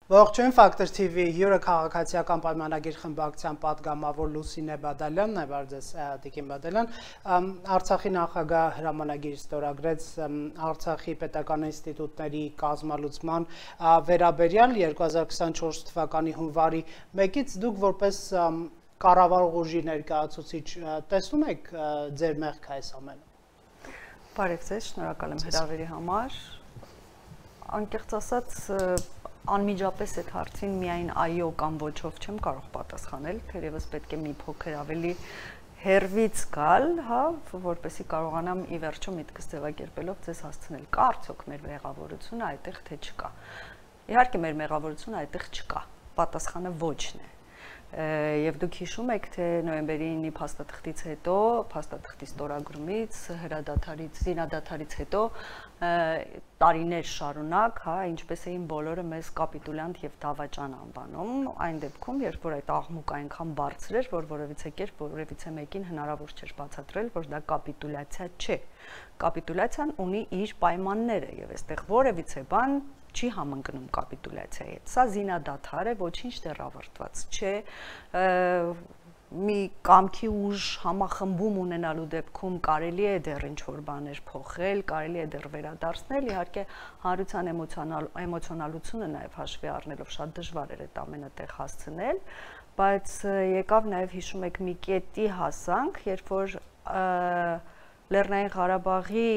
Ողջույն Ֆակտոր TV հյուրը քաղաքացիական պայմանագիր խմբակցության պատգամավոր Լուսինե Բադալյանն է, բարձես Տիկին Բադալյան, Արցախի նախագահ հրամանագիր ստորագրեց Արցախի պետական ինստիտուտների կազմալուծման վերաբերյալ 2024 թվականի հունվարի 1-ից դուք որպես կառավարող ուժի ներկայացուցիչ տեսնում եք ձեր մեղքը այս ամենը։ Բարև ձեզ, շնորհակալ եմ հրավերի համար։ Անկեղծ ասած անմիջապես այդ հարցին միայն այո կամ ոչով չեմ կարող պատասխանել, թերևս պետք է մի փոքր ավելի հերվից գալ, հա, որպեսզի կարողանամ ի վերջո միտքս ձևակերպելով ձեզ հասցնել։ Կա արդյոք մեր մեղավորությունը այդտեղ թե չկա։ Իհարկե մեր մեղավորությունը այդտեղ չկա։ Պատասխանը ոչն է։ Եվ դուք հիշում եք, թե նոյեմբերի 9-ի փաստաթղթից հետո, փաստաթղթի ստորագրումից, հրադադարից, զինադադարից հետո տարիներ շարունակ, հա, ինչպես էին բոլորը մեզ կապիտուլյանտ եւ դավաճան անվանում, այն դեպքում, երբ որ այդ աղմուկը այնքան բարձր էր, որ որևիցե կերպ որևիցե մեկին հնարավոր չէր բացատրել, որ դա կապիտուլյացիա չէ։ Կապիտուլյացիան ունի իր պայմանները եւ այստեղ որևիցե բան չի համընկնում կապիտուլյացիայի հետ։ Սա զինադադար է, ոչինչ դեռ ավարտված չէ։ Մի կամքի ուժ համախմբում ունենալու դեպքում կարելի է դեռ ինչ-որ բաներ փոխել, կարելի է դեռ վերադարձնել, իհարկե հանրության էմոցիոնալությունը նաև հաշվի առնելով շատ դժվար էր այդ ամենը տեղ հասցնել, բայց եկավ նաև հիշում եք մի կետի հասանք, երբ որ Լեռնային Ղարաբաղի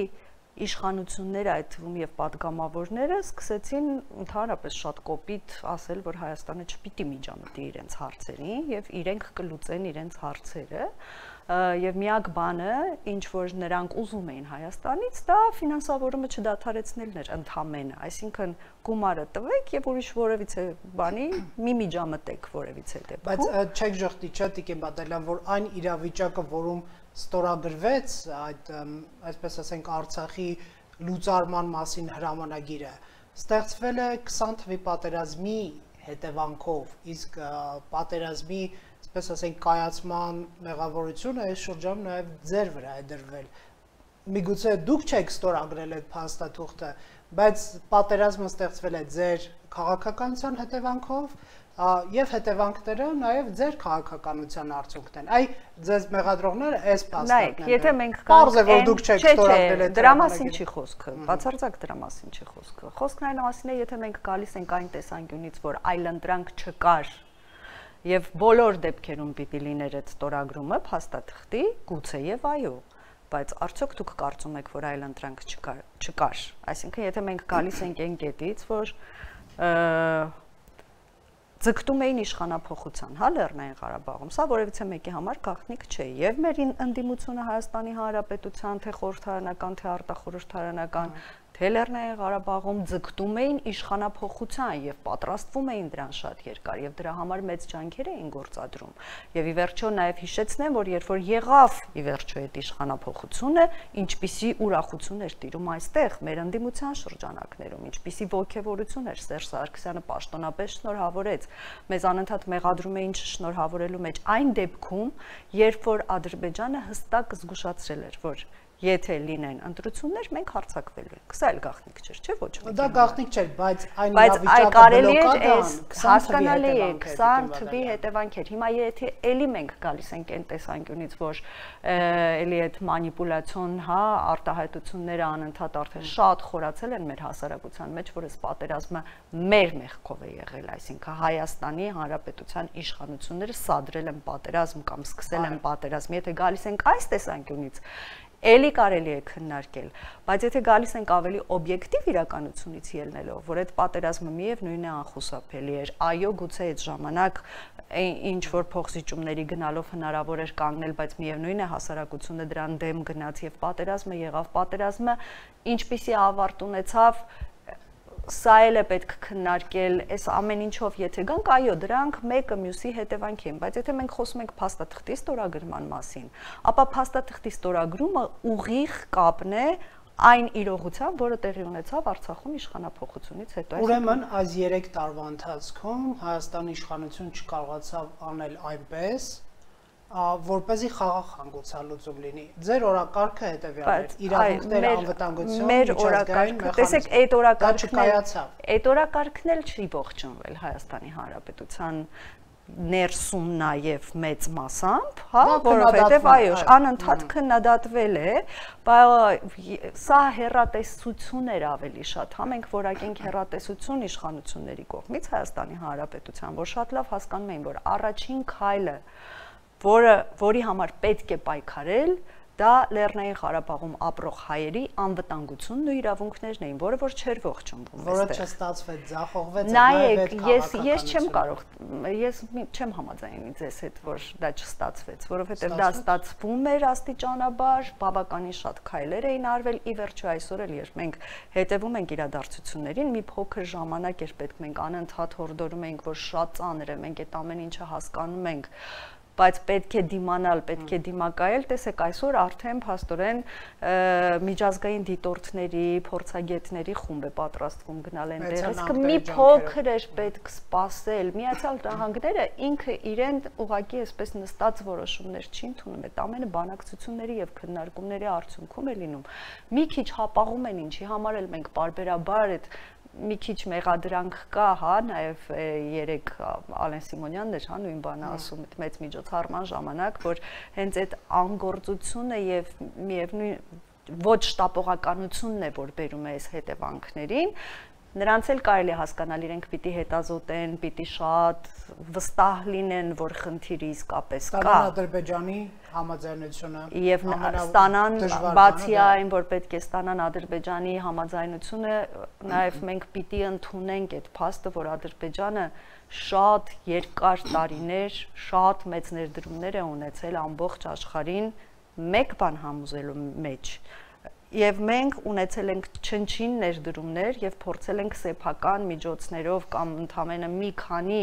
իշխանությունները, այդ թվում եւ պատգամավորները սկսեցին ընդհանրապես շատ կոպիտ ասել, որ Հայաստանը չպիտի միջամտի իրենց հարցերին եւ իրենք կլուծեն իրենց հարցերը եւ միակ բանը, ինչ որ նրանք ուզում էին Հայաստանից, դա ֆինանսավորումը չդադարեցնելն էր ընդհանրապես, այսինքն գումարը տվեք եւ ուրիշ որևիցե բանի մի միջամտեք որևիցե դեպքում։ Բայց չեք ժխտի, չէ՞ Տիկին Բադալյան, որ այն իրավիճակը, որում ստորագրվեց այդ, այսպես ասենք, Արցախի լուծարման մասին հրամանագիրը, ստեղծվել է 20 թվականի պատերազմի հետևանքով, իսկ պատերազմի, այսպես ասենք, կայացման մեղավորությունը այս շրջանում նաև ձեր վրա է դրվել։ Միգուցե դուք չեք ստորագրել այդ փաստաթուղթը, բայց պատերազմը ստեղծվել է ձեր քաղաքականության հետևանքով եւ հետևանքները նաեւ ձեր քաղաքականության արդյունքն են։ Այ ձեզ մեղադրողները այս փաստարկներն են։ Նայեք, եթե մենք Պարզ է, որ դուք չեք ստորագրել այդ դրա մասին չի խոսքը, բացարձակ դրա մասին չի խոսքը։ Խոսքն այն մասին է, եթե մենք գալիս ենք այն տեսանկյունից, որ այլընտրանք չկար եւ բոլոր դեպքերում պիտի լիներ այդ ստորագրումը փաստաթղթի, գուցե եւ այո, բայց արդյոք դուք կարծում եք, որ այլընտրանք չկար։ Այսինքն, եթե մենք գալիս ենք այն կետից, որ ձգտում էին իշխանափոխության, հա, Լեռնային Ղարաբաղում, սա որևիցե մեկի համար գաղտնիք չէ, եւ մեր ընդդիմությունը Հայաստանի Հանրապետության, թե խորհրդարանական, թե արտախորհրդարանական, թե Լեռնային Ղարաբաղում ձգտում էին իշխանափոխության եւ պատրաստվում էին դրան շատ երկար եւ դրա համար մեծ ջանքեր էին գործադրում եւ ի վերջո նաեւ հիշեցնեմ, որ երբ որ եղավ ի վերջո այդ իշխանափոխությունը, ինչպիսի ուրախություն էր տիրում այստեղ մեր ընդդիմության շրջանակներում, ինչպիսի ողջավորություն էր Սերժ Սարգսյանը պաշտոնապես շնորհավորեց, մեզ անընդհատ մեղադրում էին չշնորհավորելու մեջ այն դեպքում, երբ որ Ադրբեջանը հստակ զգուշացրել էր, որ եթե լինեն ընտրություններ, մենք հարձակվելու ենք։ Սա էլ գաղտնիք չէր, չէ՞ ոչ ոք։ Դա գաղտնիք չէր, բայց այն իրավիճակը հասկանալի է 20 թվականի հետևանքեր։ Հիմա եթե էլի մենք գալիս ենք այն տեսանկյունից, որ էլի այդ մանիպուլյացիոն, հա, արտահայտությունները անընդհատ արդեն շատ խորացել են մեր հասարակության մեջ, որ այս պատերազմը մեր մեղքով է եղել, այսինքն Հայաստանի Հանրապետության իշխանությունները սադրել են պատերազմ կամ սկսել են պատերազմ։ Եթե գալիս ենք այս տեսանկյունից, էլի կարելի է քննարկել, բայց եթե գալիս ենք ավելի օբյեկտիվ իրականությունից ելնելով, որ այդ պատերազմը միևնույն է անխուսափելի էր, այո, գուցե այդ ժամանակ ինչ որ փոխզիջումների գնալով հնարավոր էր կանգնել, բայց միևնույն է հասարակությունը դրան դեմ գնաց եւ պատերազմը եղավ, պատերազմը ինչպիսի ավարտ ունեցավ, սա էլ է պետք քննարկել, այս ամեն ինչով եթե գանք, այո, դրանք մեկը մյուսի հետևանք են, բայց եթե մենք խոսում ենք փաստաթղթի ստորագրման մասին, ապա փաստաթղթի ստորագրումը ուղիղ կապն է այն իրողությամբ, որը տեղի ունեցավ Արցախում իշխանափոխությունից հետո։ Ուրեմն այս 3 տարվա ընթացքում Հայաստանի իշխանություն չկարողացավ անել այնպես, որպեսզի խաղաղ հանգուցալուծում լինի։ Ձեր օրակարգը հետևյալն էր՝ իրավունքները, անվտանգություն, միջազգային մեխանիզմ։ Տեսեք, այդ օրակարգն էլ չի ողջունվել Հայաստանի Հանրապետության ներսում նաև մեծ մասամբ, հա, որովհետև այո, անընդհատ քննադատվել է, սա հեռատեսություն էր ավելի շատ, հա, մենք որակենք հեռատեսություն իշխանությունների կողմից Հայաստանի Հանրապետության, որ շատ լավ հասկանում էին, որ առաջին քայլը, որի համար պետք է պայքարել, դա Լեռնային Ղարաբաղում ապրող հայերի անվտանգությունն ու իրավունքներն էին, որը որ չէր ողջունվում։ Որը չստացվեց, ձախողվեց։ Նայեք, ես չեմ կարող, ես չեմ համաձայնի ձեզ հետ, որ դա չստացվեց, որովհետև դա ստացվում էր աստիճանաբար, բավականին շատ քայլեր էին արվել, ի վերջո այսօր էլ երբ մենք հետևում ենք իրադարձություններին, մի փոքր ժամանակ էր պետք, մենք անընդհատ հորդորում ենք, որ շատ ծանր է, մենք այդ ամեն ինչը հասկանում ենք, բայց պետք է դիմանալ, պետք է դիմակայել, տեսեք այսօր արդեն փաստորեն միջազգային դիտորդների, փորձագետների խումբ է պատրաստվում գնալ այնտեղ, իսկ մի փոքր էր պետք սպասել, Միացյալ Նահանգները ինքը իրեն ուղղակի այսպես նստած որոշումներ չի ընդունում, այդ ամենը բանակցությունների եւ քննարկումների արդյունքում է լինում, մի քիչ հապաղում են ինչի համար էլ մենք պարբերաբար այդ մի քիչ մեղադրանք կա, հա, նաև երեք Ալեն Սիմոնյանն էր, հա, նույն բանը ասում, այդ մեծ միջոցառման ժամանակ, որ հենց այդ անգործությունը եւ միևնույն ոչ շտապողականությունն է, որ բերում է այս հետևանքներին, նրանց էլ կարելի է հասկանալ, իրենք պիտի հետազոտեն, պիտի շատ վստահ լինեն, որ խնդիրը իսկապես կա։ Ստանան Ադրբեջանի համաձայնությունը եւ ստանան, բացի այն, որ պետք է ստանան Ադրբեջանի համաձայնությունը, նաեւ մենք պիտի ընդունենք այդ փաստը, որ Ադրբեջանը շատ երկար տարիներ, շատ մեծ ներդրումներ է ունեցել ամբողջ աշխարհին մեկ բան համոզելու մեջ։ Եվ մենք ունեցել ենք չնչին ներդրումներ եւ փորձել ենք սեփական միջոցներով կամ ընդամենը մի քանի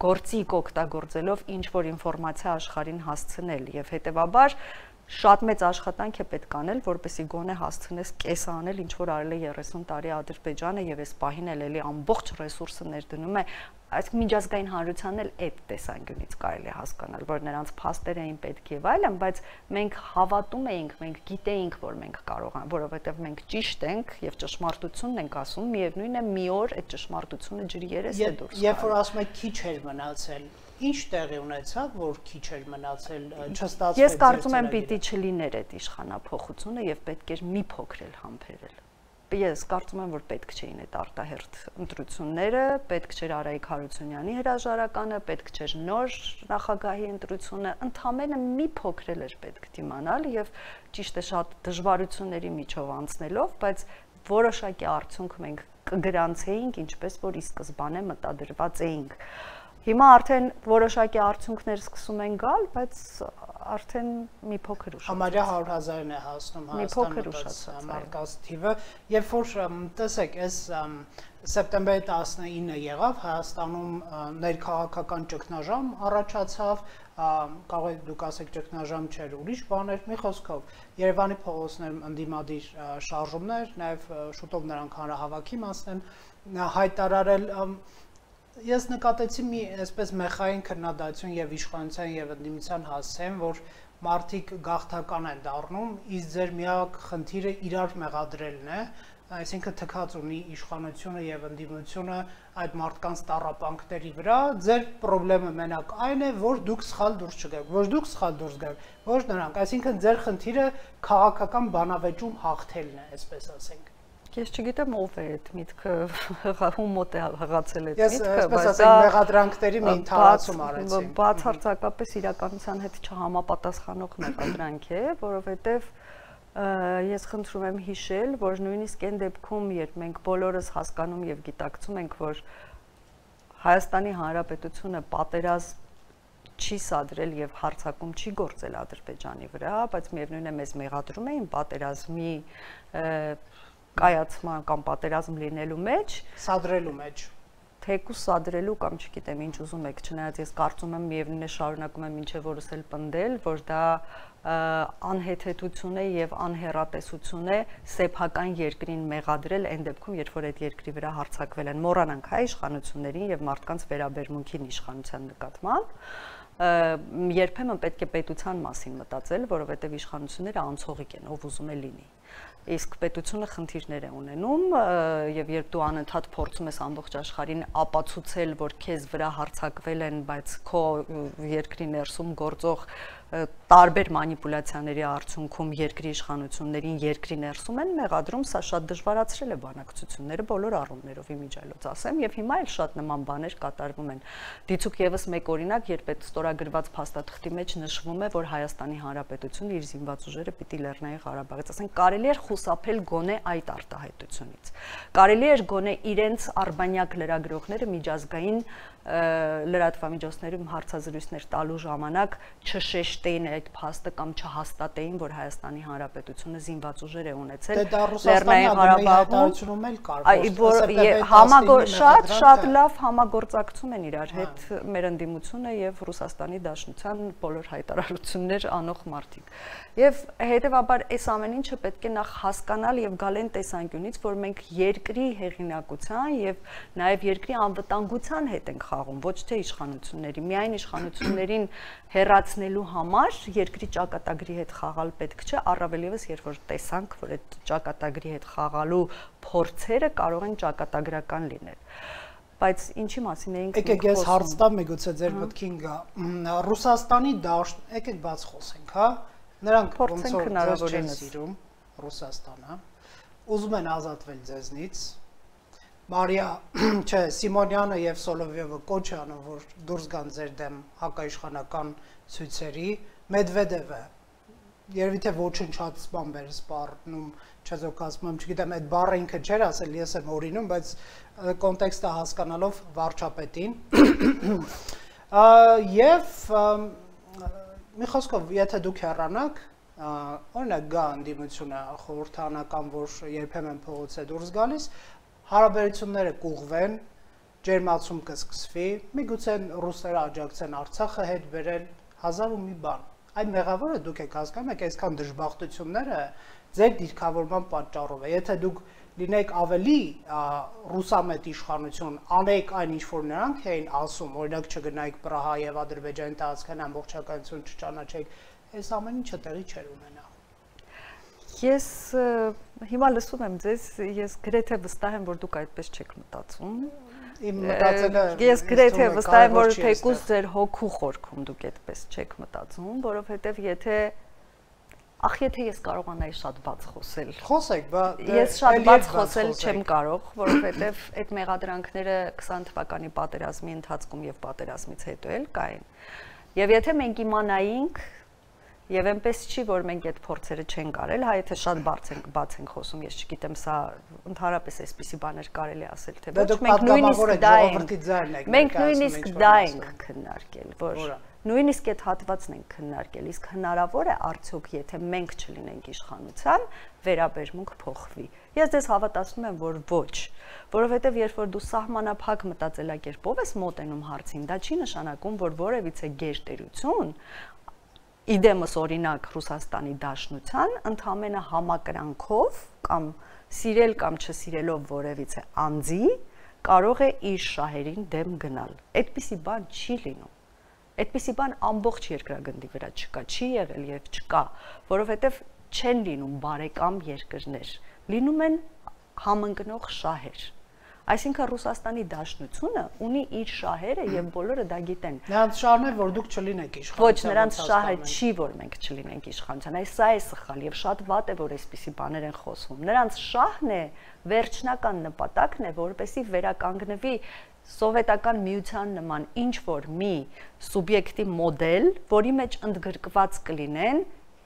գործիք օգտագործելով ինչ որ ինֆորմացիա աշխարհին հասցնել եւ հետեւաբար շատ մեծ աշխատանք է պետք անել, որպեսզի գոնե հասցնես կեսը անել, ինչ որ արել է 30 տարի Ադրբեջանը եւ այս պահին էլ ամբողջ ռեսուրսը ներդնում է, այս միջազգային հանրությանն էլ այդ տեսանկյունից կարելի է հասկանալ, որ նրանց փաստեր էին պետք եւ այլն, բայց մենք հավատում էինք, մենք գիտեինք, որ մենք կարող ենք, որովհետեւ մենք ճիշտ ենք եւ ճշմարտությունն ենք ասում, միևնույնն է մի օր այդ ճշմարտությունը ջրի երես է դուրս գալու։ Երբ որ ասում եք քիչ էր մնացել, ինչ տեղի ունեցավ, որ քիչ էր մնացել, չստացվեց։ Ես կարծում եմ պիտի չլիներ այդ իշխանափոխությունը եւ պետք էր մի փոքր էլ համբերել։ Ես կարծում եմ, որ պետք չէին այդ արտահերթ ընտրությունները, պետք չէր Արայիկ Հարությունյանի հրաժարականը, պետք չէր նոր նախագահի ընտրությունը, ընդամենը մի փոքր էլ էր պետք դիմանալ եւ ճիշտ է շատ դժվարությունների միջով անցնելով, բայց որոշակի արդյունք մենք կգրանցեինք, ինչպես որ ի սկզբանե մտադրված էինք։ Հիմա արդեն որոշակի արդյունքներ սկսում են գալ, բայց արդեն մի փոքր ուշացած։ Համարյա 100,000-ն է հասնում Հայաստանում մարդկանց թիվը, երբ որ տեսեք, այս սեպտեմբերի 19-ը եղավ Հայաստանում ներքաղաքական ճգնաժամ առաջացավ, կարող եք դուք ասեք ճգնաժամ չէր, ուրիշ բաներ, մի խոսքով Երևանի փողոցներում ընդդիմադիր շարժումներ, նաև շուտով նրանք հանրահավաքի մասն են հայտարարել։ Ես նկատեցի մի այսպես մեխային քննադատություն եւ իշխանության եւ ընդդիմության հասցեն, որ մարդիկ գաղթական են դառնում, իսկ ձեր միակ խնդիրը իրար մեղադրելն է, այսինքն թքած ունի իշխանությունը եւ ընդդիմությունը այդ մարդկանց տառապանքների վրա, ձեր խնդրը մենակ այն է, որ դուք սխալ դուրս չգաք, ոչ դուք սխալ դուրս գաք, ոչ նրանք, այսինքն ձեր խնդիրը քաղաքական բանավեճում հաղթելն է, այսպես ասենք։ Ես չգիտեմ ով է այդ միտքը, ում մոտ է հղացել այդ միտքը, բայց դա մեղադրանքների մի ընթացում արեցին։ Բացարձակապես իրականության հետ չհամապատասխանող մեղադրանք է, որովհետև ես խնդրում եմ հիշել, որ նույնիսկ այն դեպքում, երբ մենք բոլորս հասկանում եւ գիտակցում ենք, որ Հայաստանի Հանրապետությունը պատերազմ չի սադրել եւ հարձակում չի գործել Ադրբեջանի վրա, բայց միևնույնն է մեզ մեղադրում էին պատերազմի կայացման կամ պատերազմ լինելու մեջ, սադրելու մեջ, թեկուս սադրելու կամ չգիտեմ ինչ ուզում եք, չնայած ես կարծում եմ միևնույն է շարունակում եմ ինչեւ որս էլ պնդել, որ դա անհեթեթություն է եւ անհեռատեսություն է սեփական երկրին մեղադրել այն դեպքում, երբ որ այդ երկրի վրա հարձակվել են մոռանանք հայ իշխանություններին եւ մարդկանց վերաբերմունքին իշխանության նկատմամբ երբեմն պետք է պետության մասին մտածել, որովհետեւ իշխանությունները անցողիկ են, ով ուզում է լինի։ Իսկ պետությունը խնդիրներ է ունենում եւ երբ դու անընդհատ փորձում ես ամբողջ աշխարհին ապացուցել, որ քեզ վրա հարձակվել են, բայց քո երկրի ներսում գործող տարբեր մանիպուլյացիաների արդյունքում երկրի իշխանություններին երկրի ներսում են մեղադրում, սա շատ դժվարացրել է բանակցությունները բոլոր առումներով իմիջիայլոց ասեմ եւ հիմա էլ շատ նման բաներ կատարվում են։ Դիցուք եւս մեկ օրինակ, երբ այդ ստորագրված փաստաթղթի մեջ նշվում է, որ Հայաստանի Հանրապետությունը իր զինված ուժերը պիտի Լեռնային Ղարաբաղից, ասենք, կարելի է խուսափել գոնե այդ արտահայտությունից։ Կարելի է գոնե իրենց արբանյակ լրագրողները միջազգային լրատվամիջոցներում հարցազրույցներ տալու ժամանակ չշեշտեին այդ փաստը կամ չհաստատեին, որ Հայաստանի Հանրապետությունը զինված ուժեր է ունեցել Լեռնային Ղարաբաղում, շատ լավ համագործակցում են իրար հետ մեր ընդդիմությունը եւ Ռուսաստանի Դաշնության բոլոր հայտարարություններ անող մարդիկ։ Եվ հետեւաբար այս ամեն ինչը պետք է նախ հասկանալ եւ գալ այն տեսանկյունից, որ մենք երկրի հեղինակության եւ նաեւ երկրի անվտանգության հետ ենք խաղում, ոչ թե իշխանությունների, միայն իշխանություններին հեռացնելու համար երկրի ճակատագրի հետ խաղալ պետք չէ, առավել եւս երբ որ տեսանք, որ այդ ճակատագրի հետ խաղալու փորձերը կարող են ճակատագրական լինել։ Բայց ինչի մասին էինք խոսում։ Եկեք ես հարց տամ, միգուցե ձեր մտքին գա։ Ռուսաստանի դաշտ, եկեք բաց խոսենք, հա։ Նրանք ոնց որ չեն սիրում Ռուսաստանը, ուզում են ազատվել ձեզնից։ Մարիա, չէ, Սիմոնյանը եւ Սոլովյովը կոչ անում, որ դուրս գան ձեր դեմ հակաիշխանական ցույցերի, Մեդվեդևը երևի թե ոչնչացման բեր սպառնում, չեզոք ասում եմ, չգիտեմ, այդ բառը ինքը չէր ասել, ես եմ օրինում, բայց կոնտեքստը հասկանալով վարչապետին։ Եվ մի խոսքով, եթե դուք հեռանաք, օրինակ գա ընդդիմությունը խորհրդանական, որ երբեմն փողոց է դուրս գալիս, հարաբերությունները կուղվեն, ջերմացում կսկսվի, միգուցե ռուսները աջակցեն Արցախը հետ բերել, հազար ու մի բան։ Այդ մեղավորը դուք եք հասկանում եք, այսքան դժբախտությունները ձեր դիրքավորման պատճառով է։ Եթե դուք լինեք ավելի ռուսամետ իշխանություն, անեք այն ինչ որ նրանք էին ասում, օրինակ չգնայիք Պրահա եւ Ադրբեջանի տարածքային ամբողջականություն չճանաչեք, այս ամեն ինչը տեղի չէր ունենա։ Ես հիմա լսում եմ ձեզ, ես գրեթե վստահ եմ, որ դուք այդպես չեք մտածում։ Իմ մտածելը ես գրեթե վստահ եմ, որ թեկուզ ձեր հոգու խորքում դուք այդպես չեք մտածում, որովհետև եթե ես կարողանայի շատ բաց խոսել։ Խոսեք, բայց ես շատ բաց խոսել չեմ կարող, որովհետև այդ մեղադրանքները 20 թվականի պատերազմի ընթացքում եւ պատերազմից հետո էլ կային։ Եվ եթե մենք իմանայինք, եւ այնպես չի, որ մենք այդ փորձերը չենք արել, հա եթե շատ բաց ենք խոսում, ես չգիտեմ, սա ընդհանրապես այսպիսի բաներ կարելի ասել, թե ոչ, մենք նույնիսկ դա ենք քննարկել, որ նույնիսկ այդ հատվածն ենք քննարկել, իսկ հնարավոր է արդյոք, եթե մենք չլինենք իշխանության, վերաբերմունք փոխվի։ Ես դες հավատացնում եմ, որ ոչ, որովհետև երբ որ դու սահմանափակ մտածելակերպով ես մոտենում հարցին, դա չի նշանակում, որ որևիցե գերտերություն իդեմս օրինակ Ռուսաստանի Դաշնության ընդամենը համակրանքով կամ սիրել կամ չսիրելով որևիցե անձի կարող է իր շահերին դեմ գնալ։ Այդպիսի բան չի լինում։ Այդպիսի բան ամբողջ երկրագնդի վրա չկա, չի եղել եւ չկա, որովհետեւ չեն լինում բարեկամ երկրներ, լինում են համընկնող շահեր։ Այսինքն Ռուսաստանի Դաշնությունը ունի իր շահերը եւ բոլորը դա գիտեն։ Նրանց շահն է, որ դուք չլինեք իշխանության։ Ոչ, նրանց շահը չի, որ մենք չլինենք իշխանության։ Այս սա է սխալ եւ շատ վատ է, որ այսպիսի բաներ են խոսվում։ Նրանց շահն է, վերջնական նպատակն է, որպեսզի վերականգնվի սովետական միության նման ինչ որ մի սուբյեկտի մոդել, որի մեջ ընդգրկված կլինեն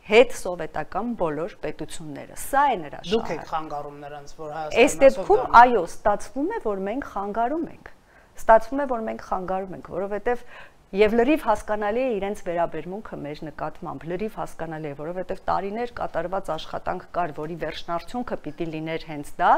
հետ սովետական բոլոր պետությունները։ Սա է նրա շահը։ Դուք եք խանգարում նրանց, որ Հայաստանը այս դեպքում այո, ստացվում է, որ մենք խանգարում ենք։ Ստացվում է, որ մենք խանգարում ենք, որովհետև Եվ լրիվ հասկանալի է իրենց վերաբերմունքը մեր նկատմամբ, լրիվ հասկանալի է, որովհետև տարիներ կատարված աշխատանք կար, որի վերջնարդյունքը պիտի լիներ հենց դա,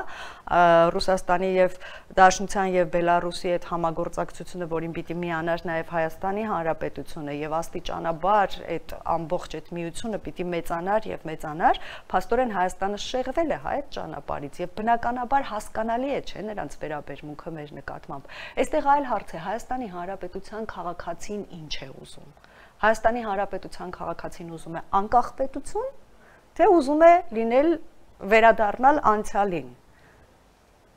Ռուսաստանի եւ Դաշնության եւ Բելարուսի այդ համագործակցությունը, որին պիտի միանար նաեւ Հայաստանի Հանրապետությունը եւ աստիճանաբար այդ ամբողջ այդ միությունը պիտի մեծանար եւ մեծանար, փաստորեն Հայաստանը շեղվել է այդ ճանապարհից եւ բնականաբար հասկանալի է, չէ, նրանց վերաբերմունքը մեր նկատմամբ։ Այստեղ այլ հարց է, Հայաստանի Հանրապետության քաղաքացին ինչ է ուզում։ Հայաստանի Հանրապետության քաղաքացին ուզում է անկախ պետություն, թե ուզում է լինել վերադառնալ անցյալին,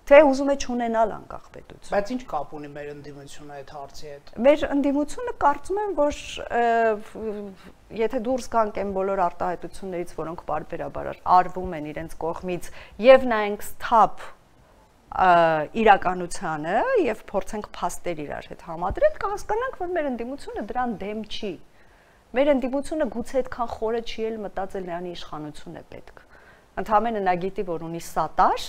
թե ուզում է չունենալ անկախ պետություն։ Բայց ինչ կապ ունի մեր ընդդիմությունը այդ հարցի հետ։ Մեր ընդդիմությունը կարծում եմ, որ եթե դուրս գանք այն բոլոր արտահայտություններից, որոնք պարբերաբար արվում են իրենց կողմից, եւ նայենք սթափ իրականությանը եւ փորձենք փաստեր իրար հետ համադրել, կհասկանանք, որ մեր ընդդիմությունը դրան դեմ չի։ Մեր ընդդիմությունը գուցե այդքան խորը չի էլ մտածել նրան իշխանություն է պետք։ Ընդհանրապես նա գիտի, որ ունի սատար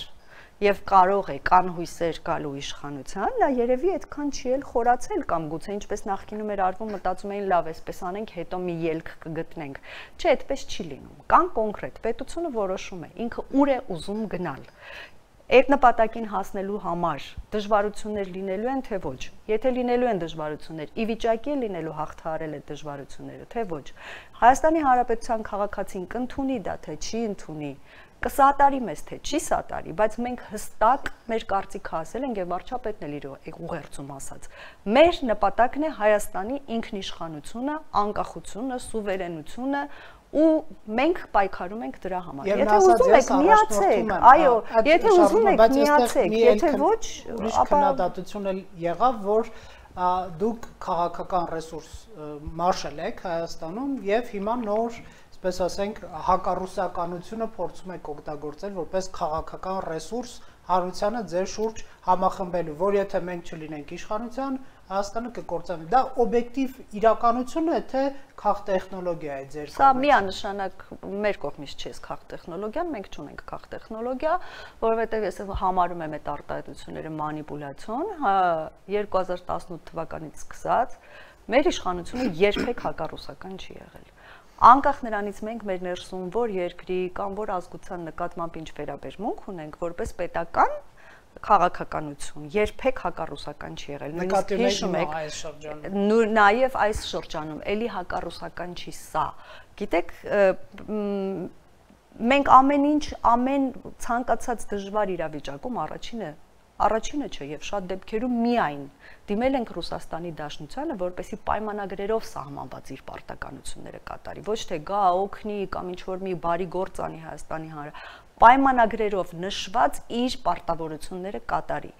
եւ կարող է կան հույսեր գալու իշխանության, նա երևի այդքան չի էլ խորացել կամ գուցե ինչպես նախկինում էր արվում, մտածում էին լավ, այսպես անենք, հետո մի ելք կգտնենք։ Չէ, այդպես չի լինում։ Կան կոնկրետ պետությունը որոշում է, ինքը ուր է ուզում գնալ։ Այդ նպատակին հասնելու համար դժվարություններ լինելու են, թե ոչ։ Եթե լինելու են դժվարություններ, ի վիճակի է լինելու հաղթահարել այդ դժվարությունները, թե ոչ։ Հայաստանի Հանրապետության քաղաքացին կընդունի դա, թե չի ընդունի, կսատարի մեզ, թե չի սատարի, բայց մենք հստակ մեր կարծիքը ասել ենք եւ վարչապետն էլ իր ուղերձում ասաց։ Մեր նպատակն է Հայաստանի ինքնիշխանությունը, անկախությունը, սուվերենությունը ու մենք պայքարում ենք դրա համար։ Եթե ուզում եք միացեք, այո, եթե ուզում եք միացեք, եթե ոչ, ուրիշ քննադատություն էլ եղավ, որ դուք քաղաքական ռեսուրս մարշալ եք Հայաստանում եւ հիմա նոր, այսպես ասենք, հակառուսականությունը փորձում եք օգտագործել որպես քաղաքական ռեսուրս հանրությանը ձեր շուրջ համախմբելու, որ եթե մենք չլինենք իշխանության, Հայաստանը կկործանվի։ Դա օբյեկտիվ իրականություն է, թե քաղտեխնոլոգիա է ձեր կողմից։ Սա միանշանակ մեր կողմից չէ քաղտեխնոլոգիան, մենք չունենք քաղտեխնոլոգիա, որովհետև ես համարում եմ այդ արտահայտությունները մանիպուլյացիոն, 2018 թվականից սկսած մեր իշխանությունը երբեք հակառուսական չի եղել։ Անկախ նրանից մենք մեր ներսում որ երկրի կամ որ ազգության նկատմամբ ինչ վերաբերմունք ունենք, որպես պետական քաղաքականություն երբեք հակառուսական չի եղել։ Նկատի հիշում եք այս շրջանում։ Նաև այս շրջանում էլի հակառուսական չի սա։ Գիտեք, մենք ամեն ինչ, ամեն ցանկացած դժվար իրավիճակում առաջինը չէ եւ շատ դեպքերում միայն դիմել ենք Ռուսաստանի Դաշնությանը, որպեսզի պայմանագրերով սահմանված իր պարտականությունները կատարի, ոչ թե գա օգնի կամ ինչ որ մի բարի գործ անի Հայաստանի պայմանագրերով նշված իր պարտավորությունները կատարի։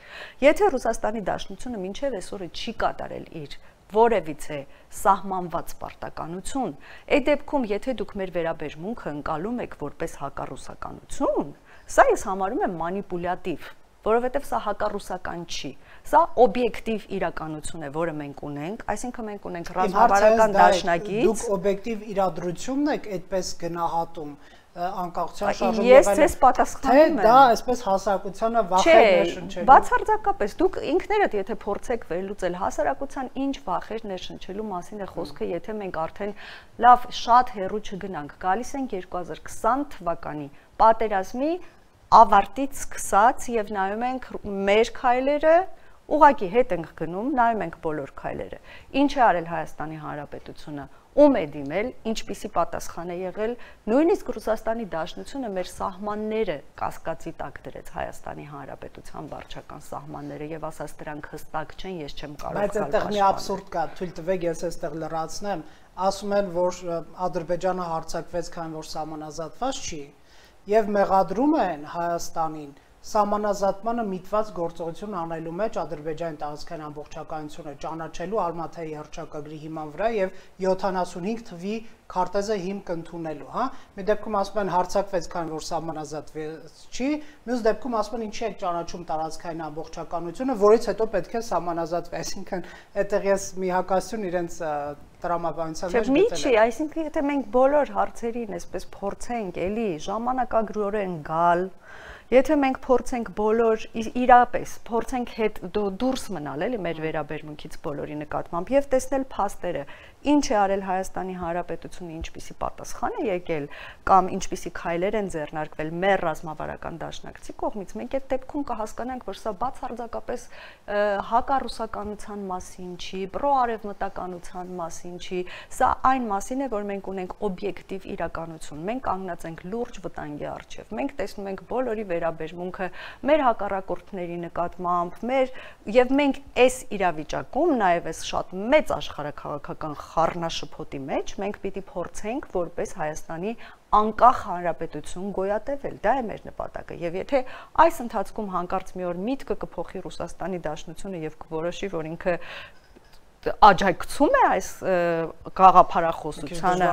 Եթե Ռուսաստանի Դաշնությունը մինչև այսօրը չի կատարել իր որևիցե սահմանված պարտականություն, այդ դեպքում եթե դուք մեր վերաբերմունքը ընկալում եք որպես հակառուսականություն, սա ես համարում եմ մանիպուլյատիվ, որովհետև սա հակառուսական չի։ Սա օբյեկտիվ իրականություն է, որը մենք ունենք, այսինքն մենք ունենք ռազմավարական դաշնակից։ Դուք օբյեկտիվ իրադրությունն եք այդպես գնահատում անկախության շարժումը։ Ես ձեզ պատասխանում եմ։ Դա այսպես հասարակությանը վախեր ներշնչելու։ Բացարձակապես դուք ինքներդ եթե փորձեք վերլուծել հասարակության ինչ վախեր ներշնչելու մասին է խոսքը, եթե մենք արդեն լավ շատ հեռու չգնանք, գալիս ենք 2020 թվականի պատերազմի ավարտից սկսած եւ նայում ենք մեր քայլերը, ուղղակի հետ ենք գնում, նայում ենք բոլոր քայլերը։ Ինչ է արել Հայաստանի Հանրապետությունը, ում է դիմել, ինչպիսի պատասխան է եղել, նույնիսկ Ռուսաստանի Դաշնությունը մեր սահմանները կասկածի տակ դրեց Հայաստանի Հանրապետության վարչական սահմանները եւ ասաց դրանք հստակ չեն, ես չեմ կարող Բայց այդտեղ մի աբսուրդ կա, թույլ տվեք ես այստեղ լրացնեմ, ասում են, որ Ադրբեջանը հարձակվեց, քանի որ սահմանազատված չի, եւ մեղադրում են Հայաստանին սահմանազատմանը միտված գործողություն անելու մեջ Ադրբեջանի տարածքային ամբողջականությունը ճանաչելու Ալմաթայի հռչակագրի հիման վրա եւ 75 թվի քարտեզը հիմք ընդունելու, հա։ Մի դեպքում ասում են հարձակվեց, քանի որ սահմանազատված չի, մյուս դեպքում ասում են ինչի է ճանաչում տարածքային ամբողջականությունը, որից հետո պետք է սահմանազատվի, այսինքն այդտեղ ես մի հակասություն իրենց տրամաբանության մեջ գտել եմ։ Չէ, այսինքն եթե մենք բոլոր հարցերին այսպես փորձենք էլի ժամանակագրորեն գալ Եթե մենք փորձենք բոլոր իրապես փորձենք հետ դուրս մնալ էլի մեր վերաբերմունքից բոլորի նկատմամբ եւ տեսնել փաստերը, ինչ է արել Հայաստանի Հանրապետությունը, ինչպիսի պատասխան է եկել կամ ինչպիսի քայլեր են ձեռնարկվել մեր ռազմավարական դաշնակցի կողմից, մենք այդ դեպքում կհասկանանք, որ սա բացարձակապես հակառուսականության մասին չի, պրոարևմտականության մասին չի, սա այն մասին է, որ մենք ունենք օբյեկտիվ իրականություն, մենք կանգնած ենք լուրջ վտանգի առջև, մենք տեսնում ենք բոլորի վերաբերմունքը մեր հակառակորդների նկատմամբ, եւ մենք այս իրավիճակում նաեւ այս շատ մեծ աշխարհաքաղաքական խառնաշփոթի մեջ մենք պիտի փորձենք որպես Հայաստանի անկախ հանրապետություն գոյատևել, դա է մեր նպատակը, եւ եթե այս ընթացքում հանկարծ մի օր միտքը կփոխի Ռուսաստանի Դաշնությունը եւ կորոշի, որ ինքը աջակցում է այս գաղափարախոսությանը,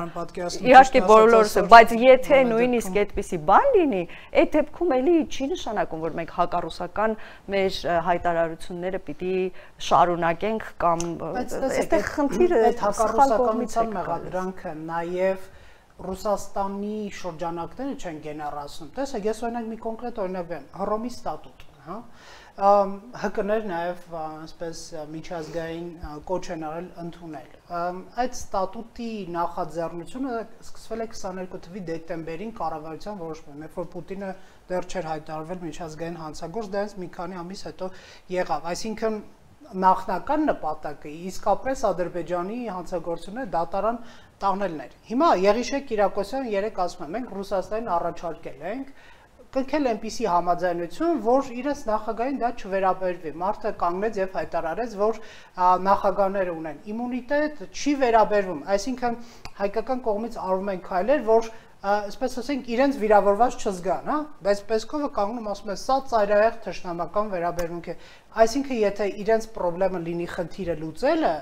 իհարկե բոլորս, բայց եթե նույնիսկ այդպիսի բան լինի, այդ դեպքում էլի չի նշանակում, որ մենք հակառուսական մեր հայտարարությունները պիտի շարունակենք կամ այստեղ խնդիրը այդ հակառուսականության մեղադրանքը նաև Ռուսաստանի շրջանակները չեն գեներացնում։ Տեսեք, ես օրինակ մի կոնկրետ օրինակ բերեմ, Հռոմի ստատուտ, հա, ՀԿ-ներ նաև այսպես միջազգային կոչ են արել ընդունել։ Այդ ստատուտի նախաձեռնությունը սկսվել է 22 թվականի դեկտեմբերին կառավարության որոշմամբ, երբ որ Պուտինը դեռ չէր հայտարարվել միջազգային հանցագործ, դրանից մի քանի ամիս հետո եղավ։ Այսինքն նախնական նպատակը իսկապես Ադրբեջանի հանցագործությունը դատարան տանելն էր։ Հիմա Եղիշեկ Կիրակոսյանը երեք ասում է, մենք Ռուսաստանին առաջարկել ենք կնքել այնպիսի համաձայնություն, որ իրենց նախագահին դա չվերաբերվի։ Մարդը կանգնեց եւ հայտարարեց, որ նախագահները ունեն իմունիտետ, չի վերաբերվում։ Այսինքն հայկական կողմից արվում են քայլեր, որ այսպես ասենք իրենց վիրավորված չզգան, հա, բայց Պեսկովը կանգնում ասում է, սա ծայրահեղ թշնամական վերաբերմունք է։ Այսինքն եթե իրենց խնդրեմը լինի խնդիրը լուծելը,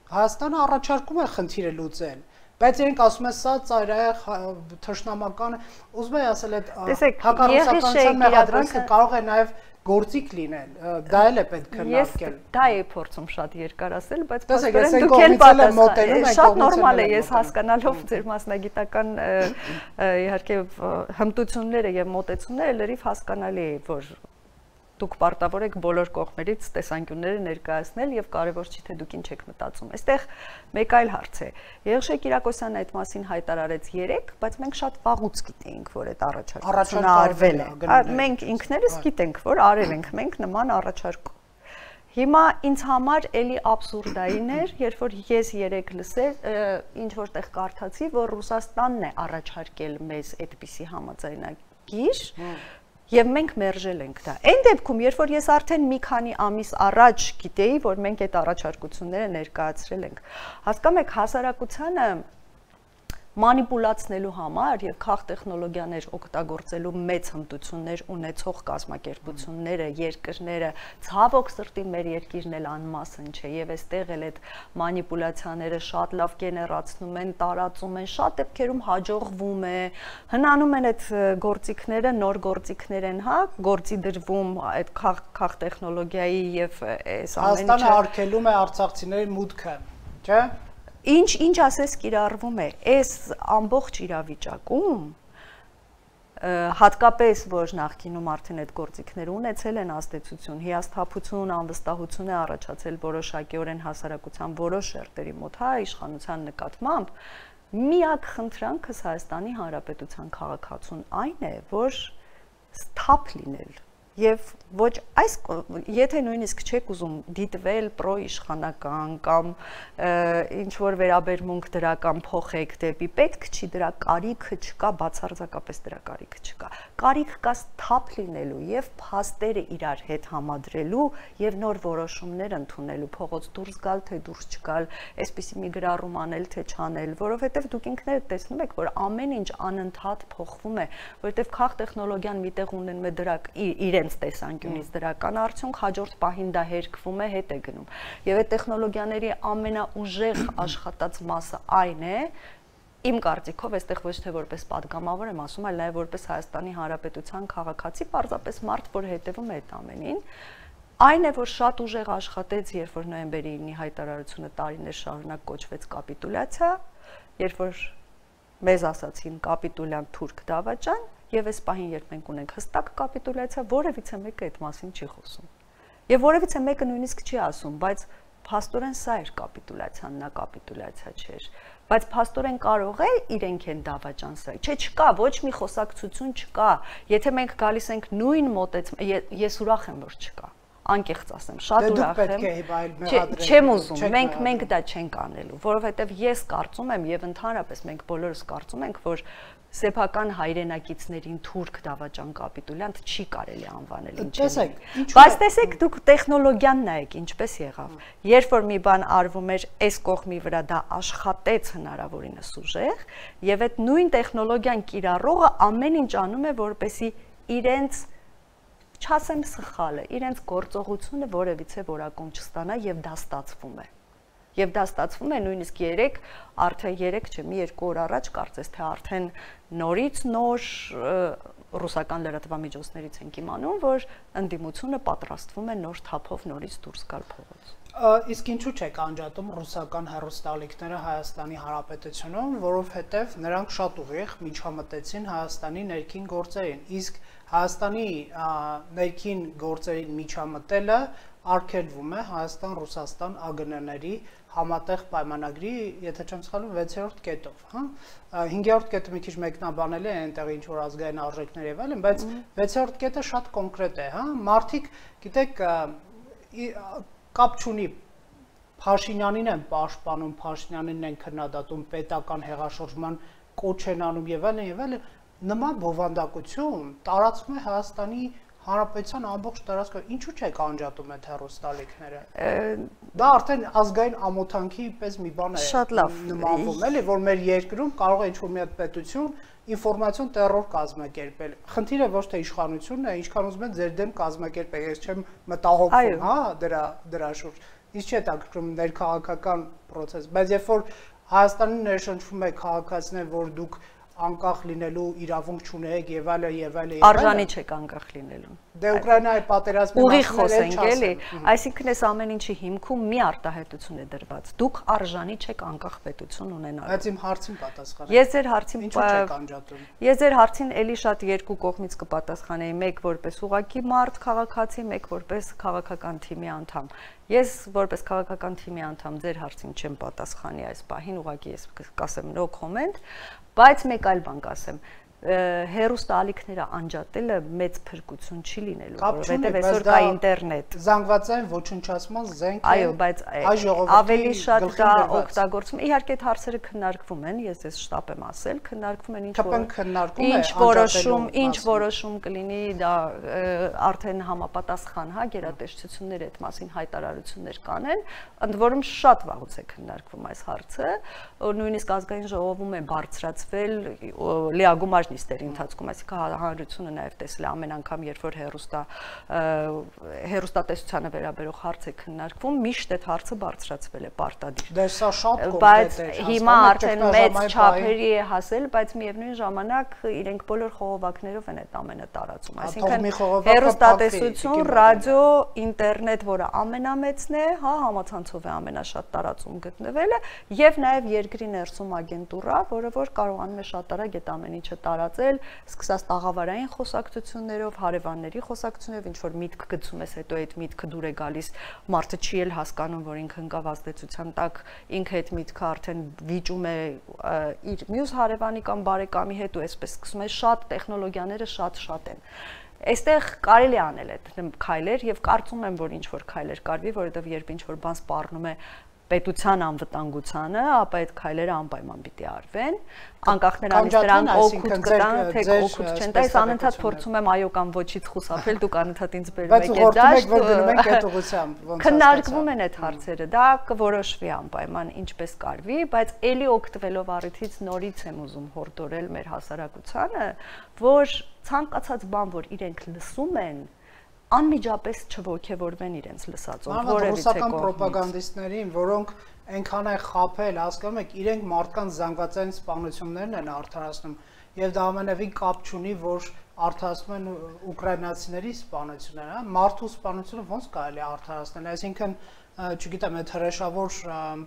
Հայաստանը առաջարկում է խնդիրը լուծել, բայց իրենք ասում են, սա ծայրահեղ թշնամական, ուզում եմ ասել, այդ հակառուսականության մեղադրանքը կարող է նաև գործիք լինել, դա էլ է պետք քննարկել։ Ես դա էի փորձում շատ երկար ասել, բայց փաստորեն դուք էլ պատասխանեցիք։ Շատ նորմալ է, ես հասկանալով ձեր մասնագիտական իհարկե հմտությունները եւ մոտեցումները լրիվ հասկանալի է, որ դուք պարտավոր եք բոլոր կողմերից տեսանկյունները ներկայացնել եւ կարեւոր չի թե դուք ինչ եք մտածում։ Այստեղ մեկ այլ հարց է։ Եղիշեկ Կիրակոսյանն այդ մասին հայտարարեց 3, բայց մենք շատ վաղուց գիտեինք, որ այդ առաջարկությունը արվել է։ Մենք ինքներս գիտենք, որ արել ենք մենք նման առաջարկ։ Հիմա ինձ համար էլի աբսուրդային էր, երբ որ ես 3 լսել ինչ որտեղ կարդացի, որ Ռուսաստանն է առաջարկել մեզ այդպիսի համաձայնագիր Եվ մենք մերժել ենք դա։ Այն դեպքում, երբ որ ես արդեն մի քանի ամիս առաջ գիտեի, որ մենք այդ առաջարկությունները ներկայացրել ենք, հասկանում եք, հասարակությանը մանիպուլացնելու համար եւ քաղ տեխնոլոգիաներ օգտագործելու մեծ հմտություններ ունեցող կազմակերպությունները, երկրները, ցավոք սրտի մեր երկիրն էլ անմասն չէ եւ այստեղ էլ այդ մանիպուլյացիաները շատ լավ գեներացնում են, տարածում են, շատ դեպքերում հաջողվում է, հնանում են այդ գործիքները, նոր գործիքներ են, հա, գործի դրվում այդ քաղ տեխնոլոգիայի եւ այս ամենը Հայաստանը արգելում է արցախցիների մուտքը, չէ՞։ Ինչ ասես կիրառվում է, այս ամբողջ իրավիճակում, հատկապես, որ նախկինում արդեն այդ գործիքները ունեցել են ազդեցություն, հիասթափություն, անվստահություն է առաջացել որոշակիորեն հասարակության որոշ շերտերի մոտ, հա, իշխանության նկատմամբ, միակ խնդրանքս Հայաստանի Հանրապետության քաղաքացուն այն է, որ սթափ լինել Եվ ոչ այս եթե նույնիսկ չեք ուզում դիտվել պրոիշխանական կամ ինչ որ վերաբերմունք դրական փոխեք դեպի պետք չի դրա կարիքը չկա բացարձակապես դրա կարիքը չկա կարիք կա սթափ լինելու եւ փաստերը իրար հետ համադրելու եւ նոր որոշումներ ընդունելու փողոց դուրս գալ թե դուրս չգալ այսպեսի մի գրառում անել թե չանել որովհետեւ դուք ինքներդ տեսնում եք որ ամեն ինչ անընդհատ փոխվում է որովհետեւ քաղ տեխնոլոգիան միտեղ ունենում է դրա իրենց տեսանկյունից դրական արդյունք հաջորդ պահին դա հերկվում է հետ է գնում եւ այդ տեխնոլոգիաների ամենաուժեղ աշխատած մասը այն է Իմ կարծիքով այստեղ ոչ թե որպես падգամավոր եմ ասում, այլ նաև որպես Հայաստանի Հանրապետության քաղաքացի, պարզապես մարդ, որ հետևում է այդ ամենին, այն է, որ շատ ուժեղ աշխատեց, երբ որ նոյեմբերի 9-ի հայտարարությունը տարիներ շարունակ կոչվեց կապիտուլյացիա, երբ որ մեզ ասացին կապիտուլյան թուրք դավաճան, եւ այս պահին երբ մենք ունենք հստակ կապիտուլյացիա, որևիցե մեկը այդ մասին չի խոսում։ Եվ որևիցե մեկը նույնիսկ չի ասում, բայց փաստորեն սա էր կապիտուլյացիան, նա կապիտուլյացիա չէր։ Բայց փաստորեն կարող է իրենք են դավաճան սա։ Չէ, չկա, ոչ մի խոսակցություն չկա։ Եթե մենք գալիս ենք նույն մոտեցում, ես ուրախ եմ, որ չկա։ Անկեղծ ասեմ, շատ ուրախ եմ։ Չեմ ուզում, մենք դա չենք անելու, որովհետև ես կարծում եմ եւ ընդհանրապես մենք բոլորս կարծում ենք, որ սեփական հայրենակիցներին թուրք դավաճան կապիտուլյանտ չի կարելի անվանել ինչպես։ Բայց տեսեք, դուք տեխնոլոգիան նայեք, ինչպես եղավ։ Երբ որ մի բան արվում էր այս կողմի վրա, դա աշխատեց հնարավորինս ուժեղ, եւ այդ նույն տեխնոլոգիան կիրառողը ամեն ինչ անում է, որպեսզի իրենց չասեմ սխալը, իրենց գործողությունը որևիցե որակում չստանա եւ դա ստացվում է։ Եվ դա ստացվում է նույնիսկ արդեն 3 չէ, մի 2 օր առաջ կարծես թե արդեն նորից նոր ռուսական լրատվամիջոցներից ենք իմանում, որ ընդդիմությունը պատրաստվում է նոր թափով նորից դուրս գալ փողոց։ Իսկ ինչու՞ չեք անջատում ռուսական հեռուստաալիքները Հայաստանի Հանրապետությունում, որովհետև նրանք շատ ուղիղ միջամտեցին Հայաստանի ներքին գործերին, իսկ Հայաստանի ներքին գործերին միջամտելը արգելվում է Հայաստան-Ռուսաստան ԱԳՆ-ների համատեղ պայմանագրի, եթե չեմ սխալվում, 6-րդ կետով, հա։ 5-րդ կետը մի քիչ մեկնաբանել է այնտեղ ինչ որ ազգային արժեքներ եւ այլն, բայց 6-րդ կետը շատ կոնկրետ է, հա։ Մարդիկ, գիտեք, կապ չունի Փաշինյանին են պաշտպանում, Փաշինյանին են քննադատում, պետական հեղաշրջման կոչ են անում եւ այլն, նման բովանդակություն տարածվում է Հայաստանի Հանրապետության ամբողջ տարածքում, ինչու՞ չեք անջատում այդ հեռուստաալիքները։ Դա արդեն ազգային ամոթանքի պես մի բան է նմանվում, էլի, որ մեր երկրում կարող է ինչ-որ մի հատ պետություն ինֆորմացիոն տերոր կազմակերպել։ Խնդիրը ոչ թե իշխանությունն է, ինչքան ուզում են ձեր դեմ կազմակերպել, ես չեմ մտահոգվում, հա, դրա շուրջ։ Իսկ չէ տակրում ներքաղաքական process, բայց երբ որ Հայաստանին ներշնչվում է քաղաքացիներ, որ դուք անկախ լինելու իրավունք չունեք եւ այլն, արժանի չեք անկախ լինելու։ Դե Ուկրաինայի պատերազմի ուղիղ խոսենք էլի, այսինքն այս ամեն ինչի հիմքում մի արտահայտություն է դրված։ Դուք արժանի չեք անկախ պետություն ունենալու։ Բայց իմ հարցին պատասխանեք։ Ես ձեր հարցին ինչու չեք անջատում։ Ես ձեր հարցին էլի շատ երկու կողմից կպատասխանեի, մեկ որպես ուղղակի մարդ քաղաքացի, մեկ որպես քաղաքական թիմի անդամ։ Ես որպես քաղաքական թիմի անդամ ձեր հարցին չեմ պատասխանի այս պահին, ուղղակի ես կասեմ no comment, բայց մեկ այլ բան կասեմ։ Հեռուստաալիքները անջատելը մեծ փրկություն չի լինելու, որովհետև այսօր կա ինտերնետ։ Զանգվածային ոչնչացման զենք է։ Այո, բայց ավելի շատ դա օգտագործում։ Իհարկե այդ հարցերը քննարկվում են, ես ես շտապ եմ ասել, քննարկվում են ինչ որոշում կլինի, դա արդեն համապատասխան, հա, գերատեսչությունները այդ մասին հայտարարություններ կանեն, ընդ որում շատ վաղուց է քննարկվում այս հարցը, նույնիսկ ազգային ժողովում է բարձրացվել լիագումար նիստերի ընթացքում, այսինքն հանրությունը նաև տեսել է ամեն անգամ, երբ որ հեռուստատեսությանը վերաբերող հարց է քննարկվում, միշտ այդ հարցը բարձրացվել է պարտադիր։ Դե սա շատ կոնկրետ է։ Բայց հիմա արդեն մեծ չափերի է հասել, բայց միևնույն ժամանակ իրենք բոլոր խողովակներով են այդ ամենը տարածում։ Այսինքն հեռուստատեսություն, ռադիո, ինտերնետ, որը ամենամեծն է, հա, համացանցով է ամենաշատ տարածում գտնվելը, եւ նաև երկրի ներսում ագենտուրա, որը որ կարողանում է շատ արագ այդ ամեն ինչը տարածել, սկսած տաղավարային խոսակցություններով, հարևանների խոսակցություններով, ինչ որ միտք գցում ես, հետո այդ միտքը դուր է գալիս, մարդը չի էլ հասկանում, որ ինքը ընկավ ազդեցության տակ, ինքը այդ միտքը արդեն վիճում է իր մյուս հարևանի կամ բարեկամի հետ ու այսպես սկսում է շատ տեխնոլոգիաները շատ են։ Այստեղ կարելի անել այդ քայլեր եւ կարծում եմ, որ ինչ որ քայլեր կարվի, որովհետեւ երբ ինչ որ բան սպառնում է պետության անվտանգությանը, ապա այդ քայլերը անպայման պիտի արվեն, անկախ նրանից դրանք օգուտ կտան, թե օգուտ չեն տա, ես անընդհատ փորձում եմ այո կամ ոչից խուսափել, դուք անընդհատ ինձ բերում եք դաշտ, քննարկվում են այդ հարցերը, դա կորոշվի անպայման ինչպես կարվի, բայց էլի օգտվելով առիթից նորից եմ ուզում հորդորել մեր հասարակությանը, որ ցանկացած բան, որ իրենք լսում են, անմիջապես չողջևորվեն իրենց լսածով, որևիցե ռուսական պրոպագանդիստներին, որոնք այնքան է խաբել, հասկանում եք, իրենք մարդկանց զանգվածային սպանություններն են արդարացնում, եւ դա ամենևին կապ չունի, որ արդարացնում են ուկրաինացիների սպանությունները, մարդու սպանությունը ոնց կարելի է արդարացնել, այսինքն չգիտեմ, այդ հրեշավոր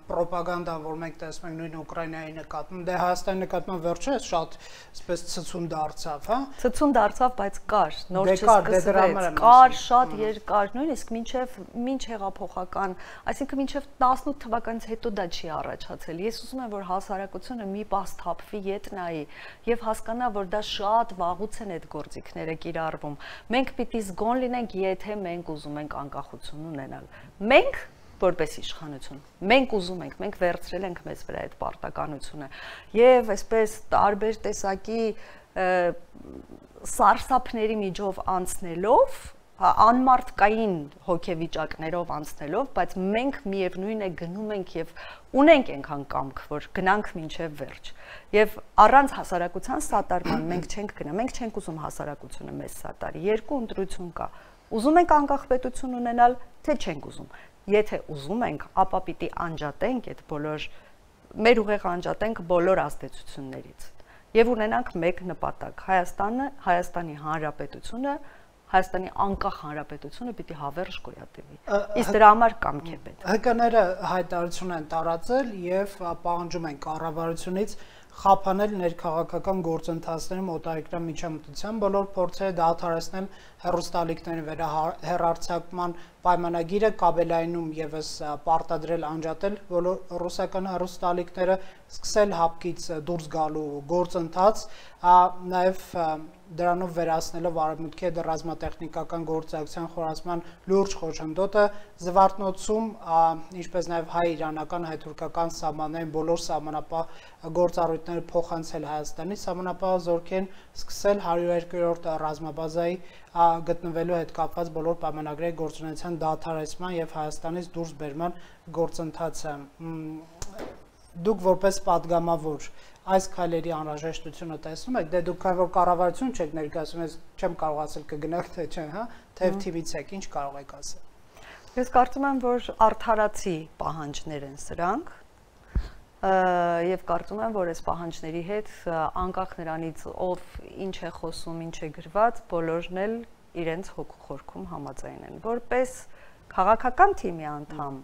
պրոպագանդան, որ մենք տեսնում ենք նույն Ուկրաինայի նկատմամբ, դե Հայաստանի նկատմամբ վերջերս շատ այսպես ցցուն դարձավ, հա։ Ցցուն դարձավ, բայց կար, նոր չսկսվեց, կար շատ երկար, նույնիսկ մինչ հեղափոխական, այսինքն մինչև 18 թվականից հետո դա չի առաջացել։ Ես ուզում եմ, որ հասարակությունը մի պահ սթափվի, ետ նայի եւ հասկանա, որ դա շատ վաղուց են այդ գործիքները կիրառվում։ Մենք պիտի զգոն լինենք, եթե մենք ուզում ենք անկախություն ունենալ։ Մենք որպես իշխանություն, մենք ուզում ենք, մենք վերցրել ենք մեզ վրա այդ պարտականությունը եւ այսպես տարբեր տեսակի սարսափների միջով անցնելով, անմարտկային հոգեվիճակներով անցնելով, բայց մենք միևնույն է գնում ենք եւ ունենք այնքան կամք, որ գնանք մինչեւ վերջ։ Եվ առանց հասարակության սատարման մենք չենք գնա, մենք չենք ուզում հասարակությունը մեզ սատարի։ Երկու ընտրություն կա։ Ուզում ենք անկախ պետություն ունենալ, թե չենք ուզում։ Եթե ուզում ենք, ապա պիտի անջատենք այդ բոլոր մեր ուղեղ անջատենք բոլոր ազդեցություններից եւ ունենանք մեկ նպատակ. Հայաստանի Հանրապետությունը, Հայաստանի անկախ հանրապետությունը պիտի հավերժ գոյատևի։ Իսկ դրա համար կամք է պետք։ ՀԿ-ները հայտարարություն են տարածել եւ պահանջում են կառավարությունից խափանել ներքաղաքական գործընթացների մոտակայքրան միջամտության բոլոր փորձերը դադարեցնել հեռուստալիքների վերահեռարձակման պայմանագիրը կաբելայնում եւս պարտադրել անջատել բոլոր ռուսական հեռուստալիքները, սկսել հապկից դուրս գալու գործընթաց, նաեւ դրանով վերացնելով արևմուտքի հետ ռազմատեխնիկական գործակցության խորացման լուրջ խոչընդոտը Զվարթնոցում, ինչպես նաեւ հայ-իրանական, հայ-թուրքական սահմաններին բոլոր սահմանապահ գործառույթները փոխանցել Հայաստանի սահմանապահ զորքերին, սկսել 102-րդ ռազմաբազայի գտնվելու հետ կապված բոլոր պայմանագրերի գործունեության դադարեցման եւ Հայաստանից դուրս բերման գործընթացը։ Դուք որպես падգամավոր այս քայլերի անհրաժեշտությունը տեսնում եք, դե դուք քան որ կառավարություն չեք ներկայացնում, ես չեմ կարող ասել կգնաք թե չէ, հա, թեև թիվից եք, ինչ կարող եք ասել։ Ես կարծում եմ, որ արդարացի պահանջներ են սրանք, եւ կարծում եմ, որ այս պահանջների հետ անկախ նրանից ով ինչ է խոսում, ինչ է գրված, բոլորն էլ իրենց հոգու խորքում համաձայն են։ Որպես քաղաքական թիմի անդամ,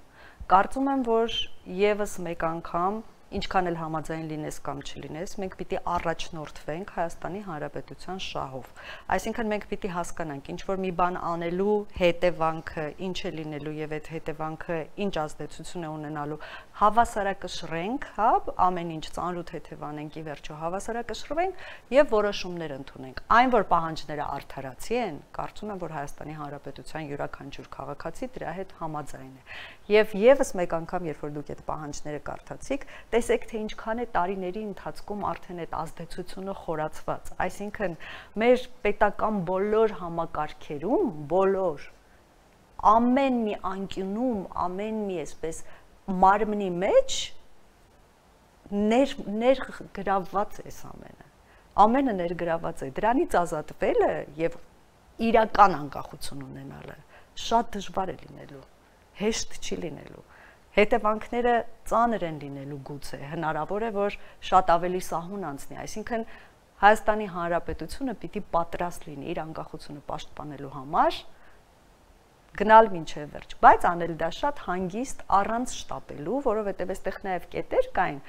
կարծում եմ, որ եւս մեկ անգամ ինչքան էլ համաձայն լինես կամ չլինես, մենք պիտի առաջնորդվենք Հայաստանի Հանրապետության շահով։ Այսինքն մենք պիտի հասկանանք, ինչ որ մի բան անելու հետևանքը ինչ է լինելու եւ այդ հետևանքը ինչ ազդեցություն է ունենալու, հավասարակշռենք, հա, ամեն ինչ ծանրութ հետևանենք ի վերջո հավասարակշռվենք եւ որոշումներ ընդունենք։ Այն որ պահանջները արդարացի են, կարծում եմ, որ Հայաստանի Հանրապետության յուրաքանչյուր քաղաքացի դրա հետ համաձայն է։ Եվ եւս մեկ անգամ, երբ որ դուք այդ պահանջները կարդացիք, տեսեք, թե ինչքան է տարիների ընթացքում արդեն այդ ազդեցությունը խորացված։ Այսինքն, մեր պետական բոլոր համակարգերում, բոլոր ամեն մի անկյունում, ամեն մի այսպես մարմնի մեջ ներգրավված է ամենը։ Ամենը ներգրավված է։ Դրանից ազատվելը եւ իրական անկախություն ունենալը շատ դժվար է լինելու, հեշտ չի լինելու։ Հետևանքները ծանր են լինելու գուցե, հնարավոր է, որ շատ ավելի սահուն անցնի, այսինքն Հայաստանի Հանրապետությունը պիտի պատրաստ լինի իր անկախությունը պաշտպանելու համար, գնալ մինչև վերջ, բայց անել դա շատ հանգիստ, առանց շտապելու, որովհետև այստեղ նաև կետեր կային,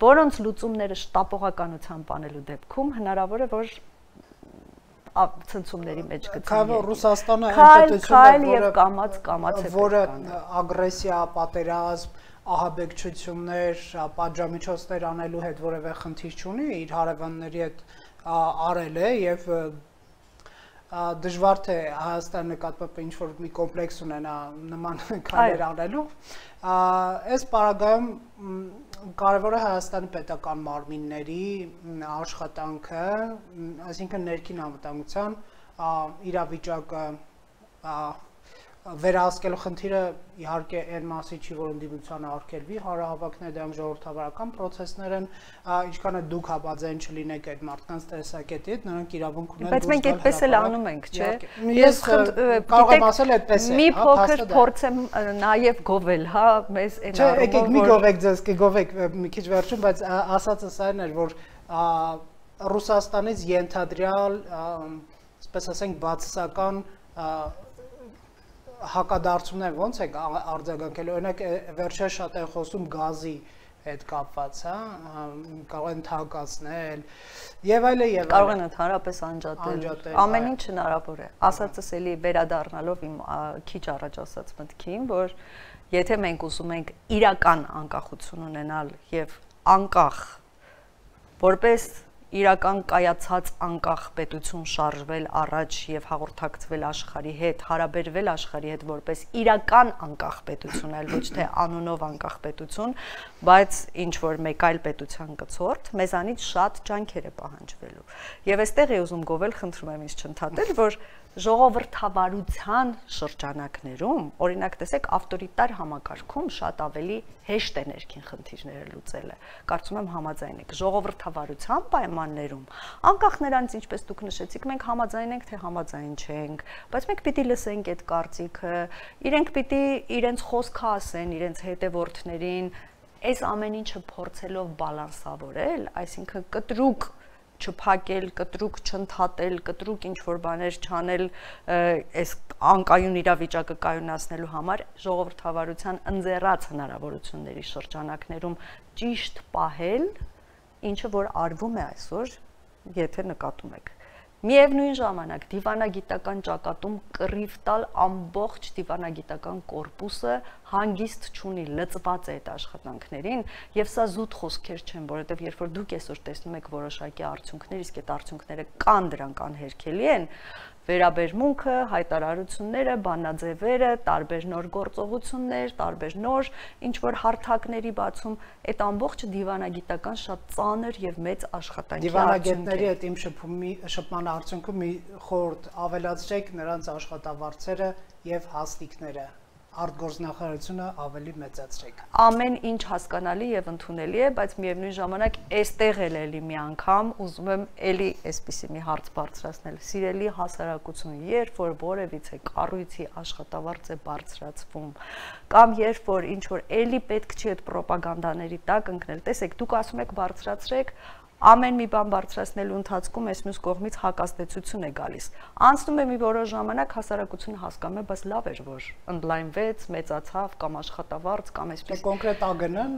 որոնց լուծումները շտապողականությամբ անելու դեպքում հնարավոր է, որ ցնցումների մեջ գտնվի։ Քանի Ռուսաստանը այնպետությունը, որը ագրեսիա, պատերազմ, ահաբեկչություններ, պատժամիջոցներ անելու հետ որևէ խնդիր չունի, իր հարևանների հետ արել է եւ դժվար թե Հայաստանի նկատմամբ ինչ որ մի կոմպլեքս ունենա նման քայլեր անելու։ Այս պարագայում կարևոր է Հայաստանի պետական մարմինների աշխատանքը, այսինքն ներքին անվտանգության իրավիճակը վերահսկելու խնդիրը իհարկե այն մասի չի, որ ընդդիմությանը արգելվի հանրահավաքները, դրանք ժողովրդավարական process-ներ են, ինչքան է դուք համաձայն չլինեք այդ մարդկանց տեսակետի հետ, նրանք իրավունք ունեն։ Բայց մենք այդպես էլ անում ենք, չէ՞։ Ես կարող եմ ասել այդպես է։ Մի փոքր փորձեմ նաև գովել, հա, մեզ այն առումով։ Չէ, եկեք մի գովեք ձեզ, կգովեք մի քիչ վերջում, բայց ասածս այն էր, որ Ռուսաստանից ենթադրյալ, ասես ասենք, բացասական հակադարձումներ ոնց եք արձագանքել, օրինակ վերջերս շատ են խոսում գազի հետ կապված, հա, կարող են թանկացնել եւ այլն եւ այլն։ Կարող են ընդհանրապես անջատել։ Ամեն ինչ հնարավոր է։ Ասածս էլի վերադառնալով իմ քիչ առաջ ասած մտքին, որ եթե մենք ուզում ենք իրական անկախություն ունենալ եւ անկախ որպես իրական կայացած անկախ պետություն շարժվել առաջ եւ հաղորդակցվել աշխարհի հետ, հարաբերվել աշխարհի հետ որպես իրական անկախ պետություն, այլ ոչ թե անունով անկախ պետություն, բայց ինչ որ մեկ այլ պետության կցորդ, մեզանից շատ ջանքեր է պահանջվելու։ Եվ այստեղ է ուզում գովել, խնդրում եմ ինձ չընդհատել, որ ժողովրդավարության շրջանակներում, օրինակ տեսեք, ավտորիտար համակարգում շատ ավելի հեշտ է ներքին խնդիրները լուծելը։ Կարծում եմ համաձայն եք, ժողովրդավարության պայմաններում, անկախ նրանից, ինչպես դուք նշեցիք, մենք համաձայն ենք, թե համաձայն չենք, բայց մենք պիտի լսենք այդ կարծիքը, իրենք պիտի իրենց խոսքը ասեն իրենց հետևորդներին, այս ամեն ինչը փորձելով բալանսավորել, այսինքն կտրուկ չփակել, կտրուկ չընդհատել, կտրուկ ինչ-որ բաներ չանել այս անկայուն իրավիճակը կայունացնելու համար ժողովրդավարության ընձեռած հնարավորությունների շրջանակներում ճիշտ պահել, ինչը որ արվում է այսօր, եթե նկատում եք։ Միևնույն ժամանակ դիվանագիտական ճակատում կռիվ տալ ամբողջ դիվանագիտական կորպուսը հանգիստ չունի, լծված է այդ աշխատանքներին եւ սա զուտ խոսքեր չեն, որովհետեւ երբ որ դուք այսօր տեսնում եք որոշակի արդյունքներ, իսկ այդ արդյունքները կան, դրանք անհերքելի են, վերաբերմունքը, հայտարարությունները, բանաձևերը, տարբեր նոր գործողություններ, տարբեր նոր ինչ-որ հարթակների բացում, այդ ամբողջը դիվանագիտական շատ ծանր եւ մեծ աշխատանքի դիվանագետների հետ իմ շփման արդյունքում մի խորհուրդ ավելացրեք նրանց աշխատավարձերը եւ հաստիկները, արտգործնախարարությունը ավելի մեծացրեք։ Ամեն ինչ հասկանալի եւ ընդունելի է, բայց միևնույն ժամանակ այստեղ էլի մի անգամ ուզում եմ էլի այսպիսի մի հարց բարձրացնել։ Սիրելի հասարակություն, երբ որ որևիցե կառույցի աշխատավարձ է բարձրացվում, կամ երբ որ ինչ որ էլի պետք չի այդ ռոպագանդաների տակ ընկնել, տեսեք, դուք ասում եք բարձրացրեք, ամեն մի բան բարձրացնելու ընթացքում այս մյուս կողմից հակազդեցություն է գալիս։ Անցնում է մի որոշ ժամանակ հասարակությունը հասկանում է, բայց լավ էր, որ ընդլայնվեց, մեծացավ կամ աշխատավարձ կամ այսպես կոնկրետ ԱԳՆ-ն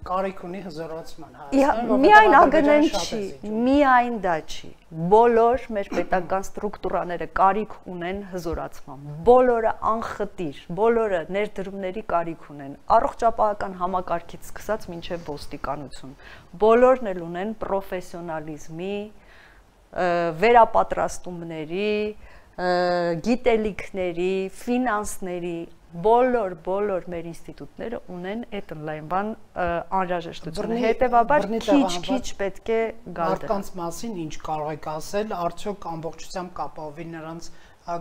կարիք ունի հզորացման Միայն ԱԳՆ-ն չի, միայն դա չի։ Բոլոր մեր պետական ստրուկտուրաները կարիք ունեն հզորացման, բոլորը անխտիր, բոլորը ներդրումների կարիք ունեն, առողջապահական համակարգից սկսած մինչև ոստիկանություն, բոլորն էլ ունեն պրոֆեսիոնալիզմի, վերապատրաստումների, գիտելիքների, ֆինանսների, բոլոր մեր ինստիտուտները ունեն այդ ընդլայնման անհրաժեշտությունը, հետևաբար քիչ պետք է գալ դրան։ Մարդկանց մասին ինչ կարող եք ասել, արդյոք ամբողջությամբ կապավի նրանց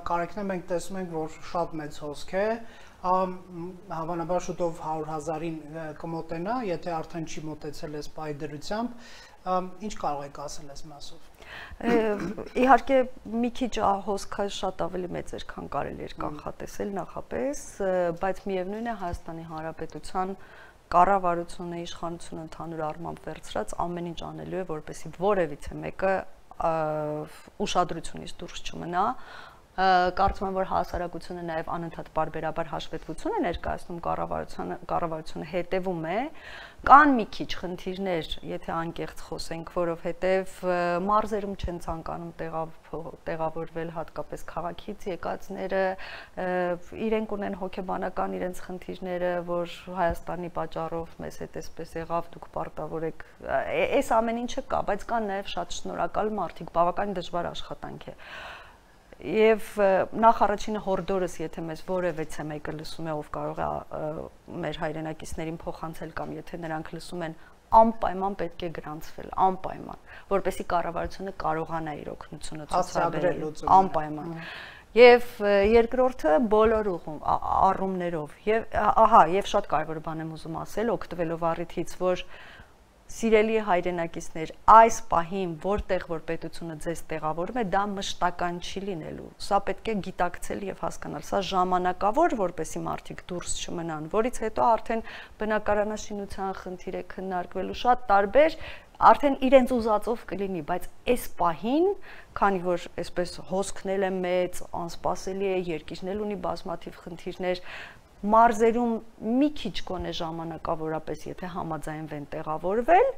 կարիքն է, մենք տեսնում ենք, որ շատ մեծ հոսք է, հավանաբար շուտով 100,000-ին կմոտենա, եթե արդեն չի մոտեցել այս պայդրությամբ, ինչ կարող եք ասել այս մասով։ Իհարկե մի քիչ հոսքը շատ ավելի մեծ էր, քան կարելի էր կանխատեսել նախապես, բայց միևնույն է Հայաստանի Հանրապետության կառավարությունը, իշխանությունը ընդհանուր առմամբ վերցրած ամեն ինչ անելու է, որպեսզի որևիցե մեկը ուշադրությունից դուրս չմնա։ Կարծում եմ, որ հասարակությունը նաև անընդհատ բարբերաբար հաշվետվություն է ներկայացնում կառավարությունը հետևում է, կան մի քիչ խնդիրներ, եթե անկեղծ խոսենք, որովհետև մարզերում չեն ցանկանում տեղավորվել հատկապես քաղաքից եկածները, իրենք ունեն հոգեբանական իրենց խնդիրները, որ Հայաստանի պատճառով մեզ հետ էսպես եղավ, դուք պարտավոր եք, այս ամեն ինչը կա, բայց կան նաև շատ շնորհակալ մարդիկ, բավականին դժվար աշխատանք է։ Եվ նախ առաջինը հորդորս, եթե մեզ որևիցե մեկը լսում է, ով կարող է մեր հայրենակիցներին փոխանցել կամ եթե նրանք լսում են, անպայման պետք է գրանցվել, անպայման, որպեսզի կառավարությունը կարողանա իր օգնությունը ցուցաբերել, անպայման։ Եվ երկրորդը բոլոր առումներով, եւ շատ կարևոր բան եմ ուզում ասել, օգտվելով առիթից, որ սիրելի հայրենակիցներ, այս պահին, որտեղ որ պետությունը ձեզ տեղավորում է, դա մշտական չի լինելու։ Սա պետք է գիտակցել եւ հասկանալ։ Սա ժամանակավոր, որպեսզի մարդիկ դուրս չմնան, որից հետո արդեն բնակարանաշինության խնդիր է քննարկվելու, շատ տարբեր արդեն իրենց ուզածով կլինի, բայց այս պահին, քանի որ այսպես հոսքն է մեծ, անսպասելի է, երկիրն էլ ունի բազմաթիվ խնդիրներ, մարզերում մի քիչ կոնե ժամանակավորապես, եթե համաձայնվեն տեղավորվել,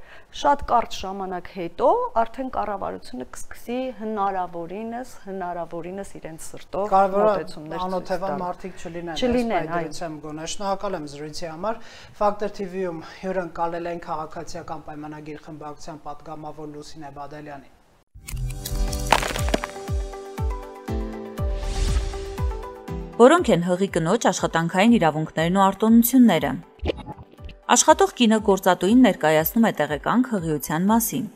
շատ կարճ ժամանակ հետո արդեն կառավարությունը կսկսի հնարավորինս իրենց սրտով մոտեցումներ անօթևան մարդիկ չլինեն, այդրությամբ գոնե։ Շնորհակալ եմ զրույցի համար։ Factor TV-ում հյուրընկալել են քաղաքացիական պայմանագիր խմբակցության պատգամավոր Լուսինե Բադալյանին։ Որոնք են հղի կնոջ աշխատանքային իրավունքներն ու արտոնությունները։ Աշխատող կինը գործատուին ներկայացնում է տեղեկանք հղիության մասին։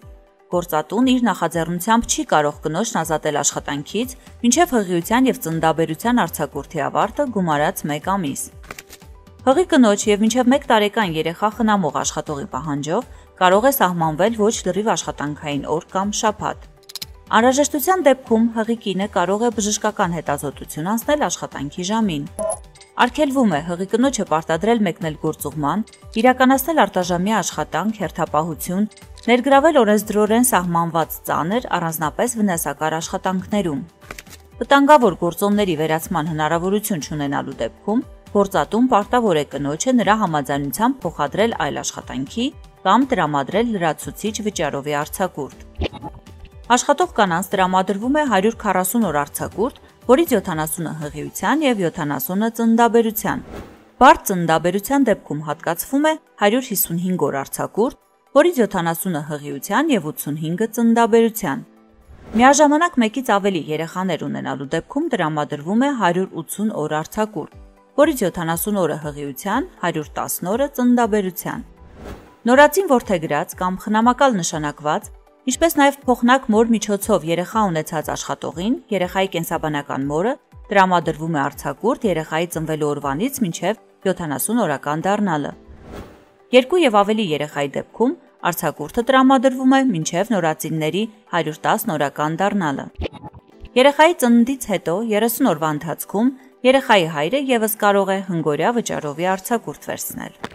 Գործատուն իր նախաձեռնությամբ չի կարող կնոջն ազատել աշխատանքից, մինչև հղիության եւ ծննդաբերության արձակուրդի ավարտը գումարած 1 ամիս։ Հղի կնոջ եւ մինչև 1 տարեկան երեխա խնամող աշխատողի պահանջով կարող է սահմանվել ոչ լրիվ աշխատանքային օր կամ շաբաթ։ Անհրաժեշտության դեպքում հղի կինը կարող է բժշկական հետազոտություն անցնել աշխատանքի ժամին։ Արգելվում է հղի կնոջը պարտադրել մեկնել գործուղման, իրականացնել արտաժամյա աշխատանք, հերթապահություն, ներգրավել օրենսդրորեն սահմանված ծանր, առանձնապես վնասակար աշխատանքներում։ Վտանգավոր գործոնների վերացման հնարավորություն չունենալու դեպքում գործատուն պարտավոր է կնոջը նրա համաձայնությամբ փոխադրել այլ աշխատանքի կամ տրամադրել լրացուցիչ վճարովի արձակուրդ։ Աշխատող կանանց տրամադրվում է 140 օր արձակուրդ, որից 70-ը հղիության եւ 70-ը ծննդաբերության։ Բարդ ծննդաբերության դեպքում հատկացվում է 155 օր արձակուրդ, որից 70-ը հղիության եւ 85-ը ծննդաբերության։ Միաժամանակ մեկից ավելի երեխաներ ունենալու դեպքում տրամադրվում է 180 օր արձակուրդ, որից 70 օրը հղիության, 110 օրը ծննդաբերության։ Նորածին որդեգրած կամ խնամակալ նշանակված Ինչպես նաև փոխնակ մոր միջոցով երեխա ունեցած աշխատողին, երեխայի կենսաբանական մորը տրամադրվում է արձակուրդ երեխայի ծնվելու օրվանից մինչև 70 օրական դառնալը։ 2 եւ ավելի երեխայի դեպքում արձակուրդը տրամադրվում է մինչև նորածինների 110 օրական դառնալը։ Երեխայի ծննդից հետո 30 օրվա ընթացքում երեխայի հայրը եւս կարող է հնգօրյա վճարովի արձակուրդ վերցնել։